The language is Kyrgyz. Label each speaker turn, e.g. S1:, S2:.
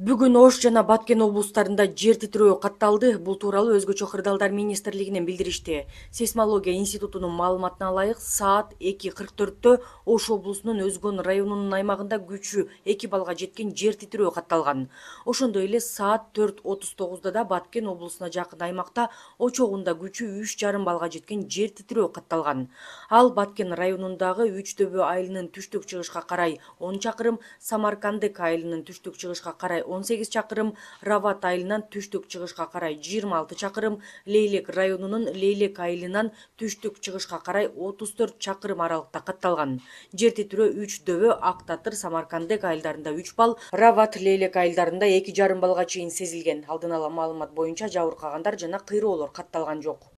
S1: Бүгүн Ош жана Баткен облустарында жер титирөө катталды. Бул тууралуу Өзгөчө кырдаалдар министрлигинен билдиришти. Сейсмология институтунун маалыматына ылайык, саат 2:44-тө Ош облусунун Өзгөн районунун аймагында күчү 2 баллга жеткен жер титирөө катталган. Ошондой эле саат 4:39 да Баткен облусуна жакын аймакта очогунда күчү 3,5 баллга жеткен жер титирөө катталган. Ал Баткен районундагы Үчдөбө айылынын түштүк-чыгышка карай 10 чакырым, Самаркандык айылынын түштүк-чыгышка карай 18 чакырым, Рават айылынан түштүк-чыгышка карай 26 чакырым, Лейлек районунун Лейлек айылынан түштүк-чыгышка карай 34 чакырым аралыкта катталган. Жер титирөө Үчдөбө, Ак Татыр, Самаркандык айылдарында 3 балл, Рават, Лейлек айылдарында 2,5 баллга чейин сезилген. Алдын ала маалымат боюнча жабыркагандар жана кыйроолор катталган жок.